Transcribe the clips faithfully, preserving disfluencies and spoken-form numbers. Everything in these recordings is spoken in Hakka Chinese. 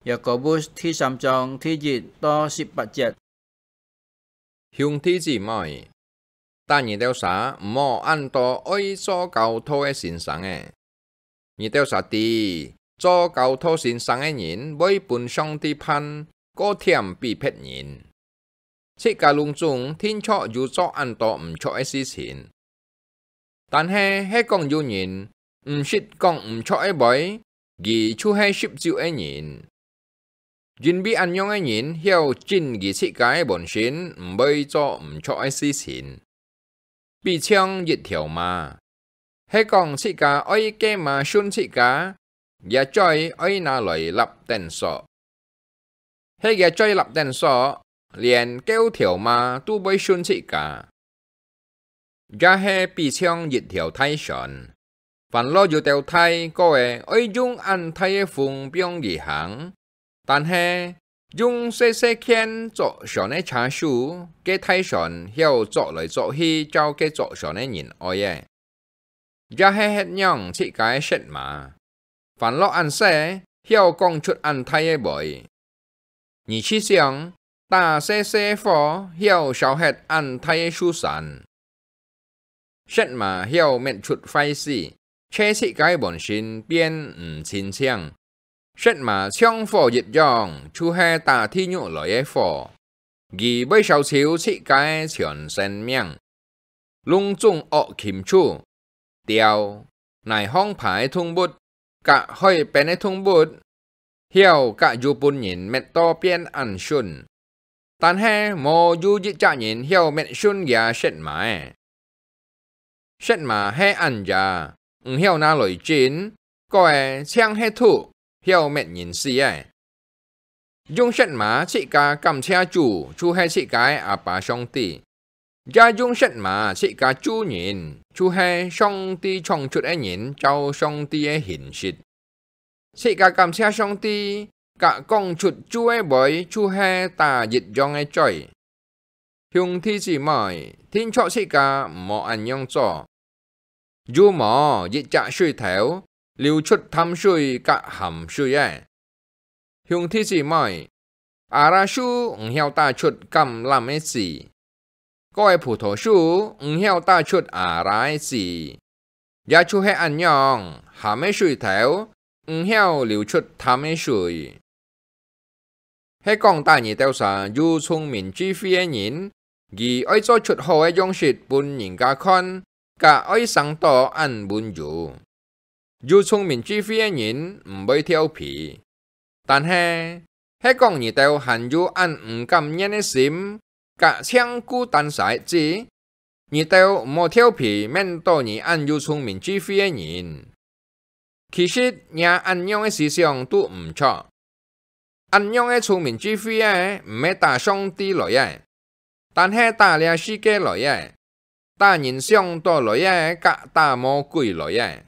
雅各伯第三章第一到十八節。兄弟姊妹，但你兜儕毋好恁多愛做教導个先生仔。你兜儕知，做教導先生个人會分上帝判過添比別人。自家攏總定著有做恁多毋著个事情， 但係，係講有人毋識講毋著个話，佢就係穡酒个人。因為恁樣个人曉禁佢自家个本身毋會做毋著个事情。比像一條嫲，係講自家愛該嫲順自家，厥嘴愛拿來搦等索。 係厥嘴搦等索，連狗條嫲都會順自家。也係比像一條大船，凡落有兜大，過仔愛用恁大个風放佢行，但係用細細件作船个車手，該大船曉作來作去，照該作船个人愛个。 也係歇仰自家个舌嫲，凡落恁細，曉講出恁大个話。你試想，打細細个火，曉燒忒恁大个樹山。舌嫲曉搣出壞事，借自家个本身變毋清淨。舌嫲像火一樣，就係打地獄來个火，佢會燒臭自家个全生命。 攏總惡禽獸、鳥、泥項爬个動物，佮海邊个動物，曉佮有分人搣到變恁順。但係無有一隻人曉搣順厥舌嫲仔。舌嫲係恁野，毋曉拿來精，過仔淨係毒，曉搣人死个。 用舌嫲自家感謝主，就係自家个阿爸上帝；也用舌嫲自家咒人，就係上帝創出个人照上帝个形式。自家感謝上帝，佮講出咒个話，就係打一樣个嘴。 兄弟姊妹，定著自家毋好恁樣做。有無一隻水頭流出淡水佮鹹水个？兄弟姊妹，阿拉樹毋曉打出橄欖个子，過仔葡萄樹毋曉打出阿拉个子。 也就係恁樣，鹹个水頭，毋曉流出淡个水。係講打你兜儕有聰明智慧个人，佢愛做出好个樣式分人家看，佮愛生到恁溫柔。有聰明智慧个人毋會調皮， 但係，係講你兜還有恁毋甘願个心，佮淨顧單儕个子，你兜毋好調皮面著你恁有聰明智慧个人。其實，若恁樣个思想都毋著。恁樣个聰明智慧个，毋係打上帝來个， 但係打這世界來个，打人想到來个，佮打魔鬼來个。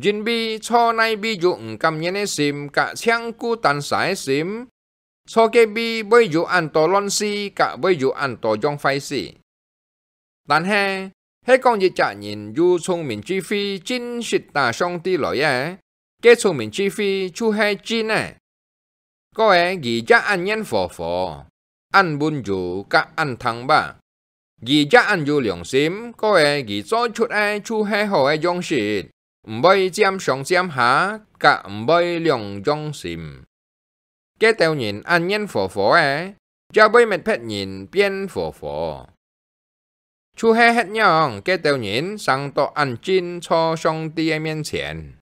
因為坐哪位有毋甘願个心佮淨顧單儕个心，坐該位會有恁多亂事，佮會有恁多樣壞事。但係，係講一隻人有聰明智慧，真實打上帝來个，該聰明智慧就係真个。 過仔佢也恁願和和，恁溫柔佮恁聽話。佢也恁有良心，過仔佢做出个就係好个樣式，毋會佔上佔下，佮毋會兩樣心。該兜人恁願和和个，也會搣別人變和和。 就係歇仰該兜人生到恁近坐上帝个面前。